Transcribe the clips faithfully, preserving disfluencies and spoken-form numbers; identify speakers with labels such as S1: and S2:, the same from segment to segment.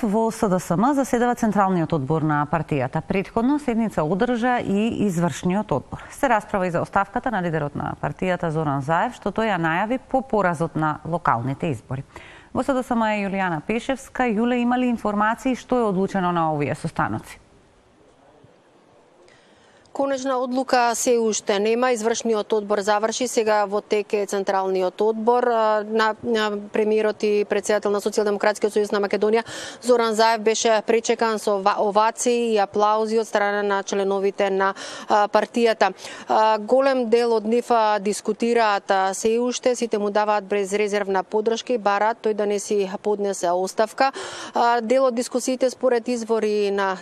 S1: во С Д С М заседава Централниот одбор на партијата. Претходно седница одржа и извршниот одбор. Се расправа и за оставката на лидерот на партијата Зоран Заев, што тој ја најави по поразот на локалните избори. Во С Д С М е Јулијана Пешевска. Јуле, има ли информации што е одлучено на овие состаноци?
S2: Конечна одлука се уште нема. Извршниот одбор заврши, сега во тек е Централниот одбор. На, на премиерот и председател на Социјалдемократскиот сојуз на Македонија Зоран Заев беше пречекан со овации и аплаузи од страна на членовите на партијата. Голем дел од нив дискутираат се уште, сите му даваат безрезервна поддршка и бараат тој да не си поднесе оставка. Дел од дискусиите според извори на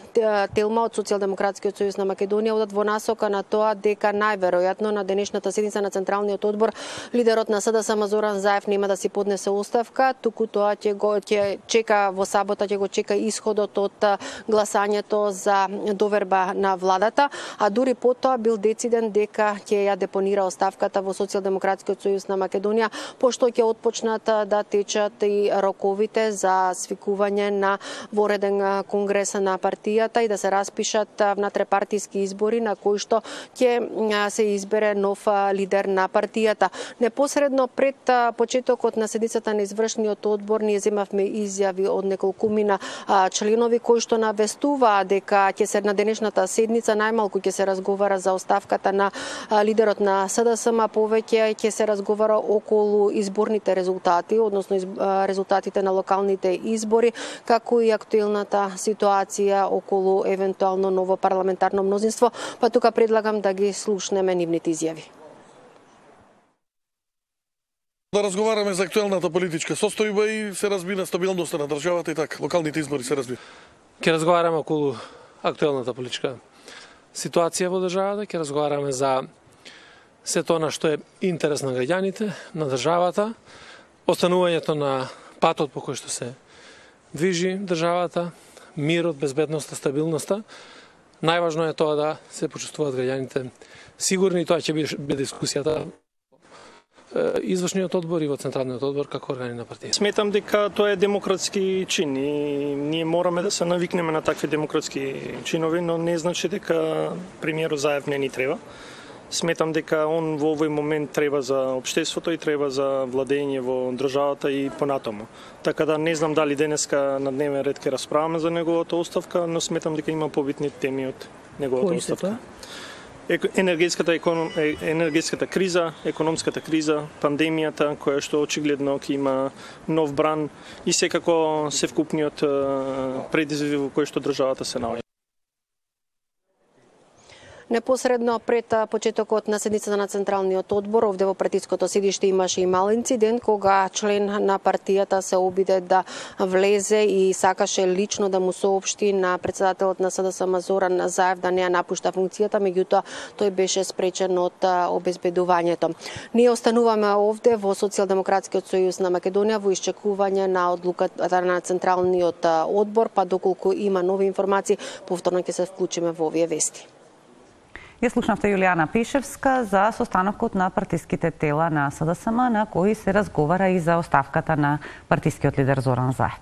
S2: Телма од Социјалдемократскиот сојуз на Македонија одат во насока на тоа дека најверојатно на денешната седница на Централниот одбор лидерот на С Д С М Зоран Заев нема да си поднесе оставка, туку тоа ќе го ќе чека во сабота, ќе го чека исходот од гласањето за доверба на владата, а дури потоа бил дециден дека ќе ја депонира оставката во Социјалдемократскиот сојуз на Македонија, пошто ќе отпочнат да течат и роковите за свикување на вореден конгрес на партијата и да се распишат внатрепартиски избори на кој што ќе се избере нов лидер на партијата. Непосредно пред почетокот на седницата на извршниот одбор ние земавме изјави од неколкумина членови кои што навестуваа дека ќе се на денешната седница најмалку ќе се разговара за оставката на лидерот на С Д С М, повеќе ќе се разговара околу изборните резултати, односно резултатите на локалните избори, како и актуелната ситуација околу евентуално ново парламентарно мнозинство. Па тука предлагам да ги слушнеме нивните изјави.
S3: Да разговараме за актуелната политичка состојба и се разбира стабилноста на државата и така, локалните избори се разбира.
S4: Ќе разговараме околу актуелната политичка ситуација во државата, ќе разговараме за се тоа на што е интерес на граѓаните, на државата, останувањето на патот по кој што се движи државата, мирот, безбедноста, стабилноста. Најважно е тоа да се почувствуваат граѓаните сигурни и тоа ќе биде дискусијата извршниот одбор и во Централниот одбор како органи на партија.
S5: Сметам дека тоа е демократски чин и ние мораме да се навикнеме на такви демократски чинови, но не значи дека премиерот Заев не ни треба. Сметам дека он во овој момент треба за општеството и треба за владење во државата и понатаму. Така да не знам дали денеска на дневен ред ќе расправаме за неговата оставка, но сметам дека има побитни теми од неговата оставка. Енергетската економ... енергетската криза, економската криза, пандемијата која што очигледно ќе има нов бран и секако се вкупниот предизвик во кој што државата се наоѓа.
S2: Непосредно пред почетокот на седницата на Централниот одбор, овде во партиското седиште имаше и мал инцидент кога член на партијата се обиде да влезе и сакаше лично да му соопшти на председателот на С Д С М Зоран Заев да не ја напушта функцијата, меѓутоа тој беше спречен од обезбедувањето. Ние остануваме овде во Социјалдемократскиот сојуз на Македонија во исчекување на одлуката на Централниот одбор, па доколку има нови информации, повторно ќе се вклучиме во овие вести.
S1: Ја слушнавте Јулијана Пешевска за состанокот на партиските тела на С Д С М, на кои се разговара и за оставката на партискиот лидер Зоран Заев.